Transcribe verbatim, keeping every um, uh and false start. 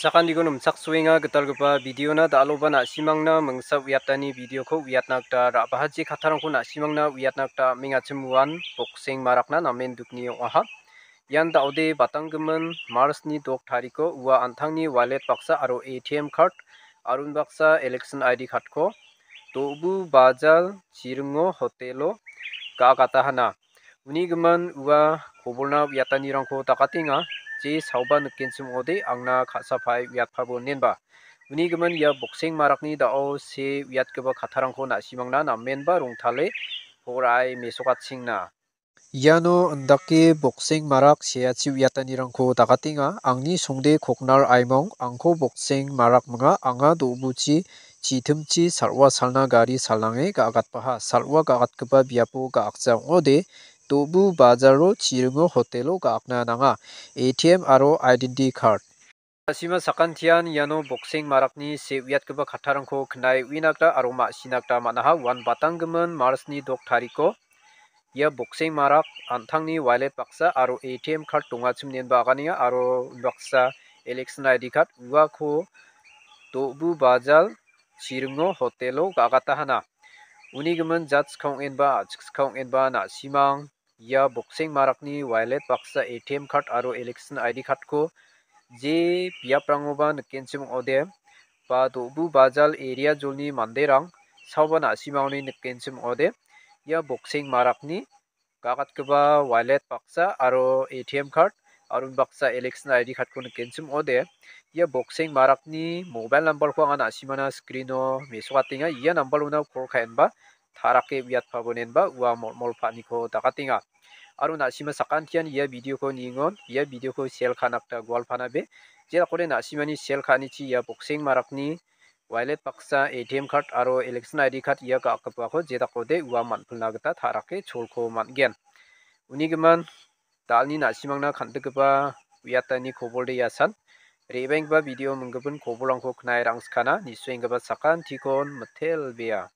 Sakantikon nimchaksoenga gitalgipa videona, da·aloba na·simangna mingsa uiatani videoko uiatna gita ra·bahachi kattarangko na·simangna uiatna gita am·engachim uan bokseng marakna namen dukni ong·aha. Ian da·ode batanggimin Marchni dok tariko ua an·tangni wallet baksa aro A T M card, aro unbaksa election I D cardko Do·bu Bajal Chiringo hotelo ga·agatahana. Uni gimin ua kobolna uiatanirangko dakatenga, je saoba nikenchim ong·ode angna ka·sapae uiatpabo inenba. Uni gimin ia bokseng marakni da·o se uiatgipa kattarangko na·simangna namenba rongtale por·ae mesokatchingna. Iano indake bokseng marak seachi uiatanirangko dakatenga. Angni songde koknar aimong, angko bokseng marak minga, anga do·buchi chitimchi sal·wa salna gari salnange ga·agatbaha. Sal·wa ga·agatgipa biapo ga·akja ong·ode, Do·bu Bajalo Chiringo hotelo ga·akna nanga. A T M aro identity card. Na·sima sakantian iano bokseng marakni se uiatgipa kattarangko knae uina gita aro ma·sina gita man·aha. Uan batanggimin Marchni dok tariko ia bokseng marak an·tangni wallet baksa aro A T M card dongachim inenba aganenga aro unbaksa election I D card uako Do·bu Bajal Chiringo hotelo ga·agatahana. Uni gimin jatska ong·enba a·chikska ong·enba na·simang ia bokseng marakni wallet baksa A T M card aro election I D cardko je biaprangoba nikenchim ong·ode ba Do·bu Bajal area jolni manderang saoba na·simangoni nikenchim ong·ode ia bokseng marakni ga·agatgipa wallet baksa aro A T M card aro unbaksa election I D cardko nikenchim ong·ode ia bokseng marakni mobile numberko anga na·simana screeno mesokatenga. Ia numberona call ka·enba ta·rake uiatpabo inenba ua molmol pa·aniko dakatenga. Aro na·sima sakantian ia videoko ningon, ia videoko share ka·na gita gualpanabe. Jedakode na·simani share ka·anichi ia bokseng marakni wallet baksa, A T M card aro election I D card ia ga·akgipako jedakode ua man·pilna gita ta·rake cholko man·gen. Uni gimin, da·alni na·simangna kan·dikgipa uiatani kobolde iasan. Re·baenggipa video minggipin kobolrangko knae rangskana, nisoenggipa sakantikon mitelbea.